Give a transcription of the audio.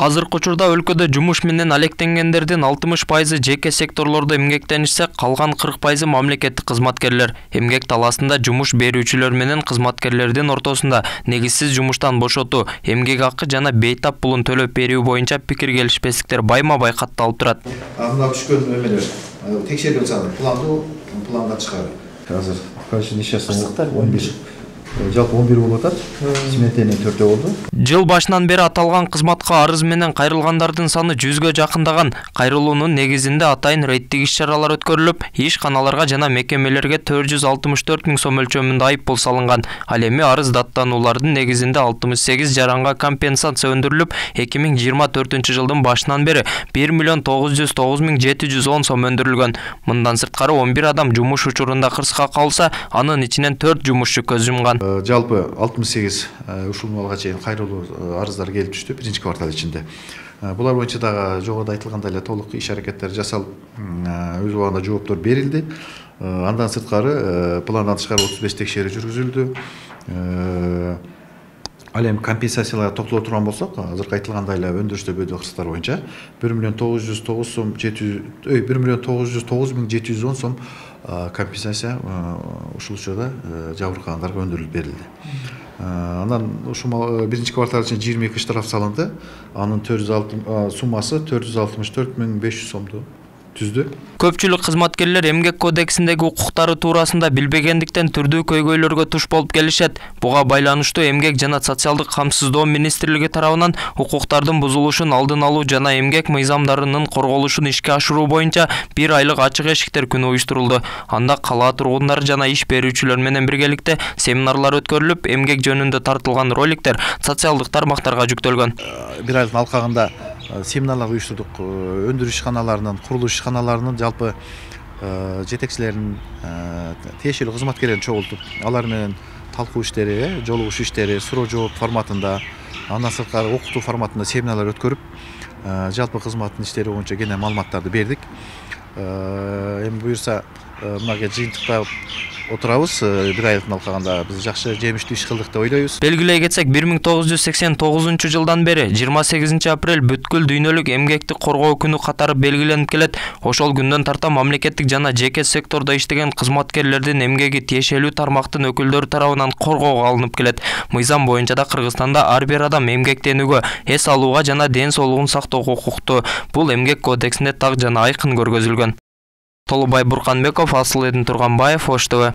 Азыркы учурда өлкөдө жумуш менен алектенгендердин 60% жеке секторлордо эмгектенишсе, калган 40% мамлекеттик кызматкерлер. Эмгек талаасында жумуш берүүчүлөр менен кызматкерлердин ортосунда негизсиз жумуштан бошотуу, эмгек акы жана бейтап пулун төлөп берүү боюнча пикир келишпестиктер байма-бай катталып турат. Мына түшкөн эмелер текшерүү жасалып, планга чыгарып. Азыр каждый нешеси 11. Жалпы 11 болуп атат. Сметенин 4 болду. Жыл башынан бери аталган кызматка арыз менен кайрылгандардын саны 100гө жакындаган. Кайрылуунун негизинде атайын рейдтик иш-чаралар өткөрүлүп, ишканаларга жана мекемелерге 464 000 сом өлчөмүндө айыппул салынган. Ал эми арыз даттануулардын негизинде 68 жаранга компенсация өндүрүлүп, 2024 жылдын башынан бери 1 909 710 сом өндүрүлгөн. Мындан сырткары 11 адам жумуш учурунда кырсыкка калса, анын ичинен 4 жумушчу көз жумган. Жалпы 68 ушул малга чейин кайрылуу арыздар келип түштү биринчи квартал ичинде. Булар боюнча дагы жогоруда айтылгандай эле толук иш-аракеттер жасалып, өз убагында жооптор берилди. Андан сырткары пландан тышкары 35 текшерүү жүргүзүлдү. Ал эми компенсацияларга токтоло турган болсок, азыркы айтылгандай эле өндүрүштө кырсыктар боюнча 1 909 710 сом компенсация ушул учурда жабыркагандарга өндүрүлүп берилди. Андан ушул биринчи квартал үчүн 22 штраф салынды. Анын суммасы 464 500 сомду түздү. Көпчүлүк кызматкерлер эмгек кодексиндеги укуктары туурасында билбегендиктен түрдүү көйгөйлөргө туш болуп келишет. Буга байланыштуу Эмгек жана социалдык камсыздоо министрлиги тарабынан укуктардын бузулушун алдын алуу жана эмгек мыйзамдарынын корголушун ишке ашыруу боюнча 1 айлык ачык эшиктер күнү уюштурулду. Анда кала тургундары жана иш берүүчүлөр менен биргеликте семинарлар өткөрүлүп, эмгек жөнүндө тартылган роликтер социалдык тармактарга жүктөлгөн. 1 айлык алкагында семинарлар уюштурдук. Өндүрүш ишканаларынын, курулуш ишканаларынын жалпы жетекчилеринин, тиешелүү кызматкерлерин чогултуп, алар менен талкуу иштери, жолугушуу иштери, суроо жооп форматында, андан сырткары окутуу форматында семинарлар өткөрүп, жалпы кызматтын иштери боюнча кенен маалыматтарды бердик. Эми буюрса, мынага жыйынтыктап отурабыз. 1 айлык алкагында биз жакшы жемиштүү иш кылдык деп ойлойбуз. Белгилей кетсек, 1989 жылдан бери 28 апрель бүткүл дүйнөлүк эмгекти коргоо күнү катары белгиленип келет. Ошол күндөн тарта мамлекеттик жана жеке сектордо иштеген кызматкерлердин эмгеги тиешелүү тармактын өкүлдөрү тарабынан коргоого алынып келет. Мыйзам боюнча да Кыргызстанда ар бир адам эмгектенүүгө, эс алууга жана ден соолугун сактоого укуктуу. Бул эмгек кодексинде так жана айкын көргөзүлгөн. Толубай Бурканбеков, Асыл Турганбаев, Ош ТВ.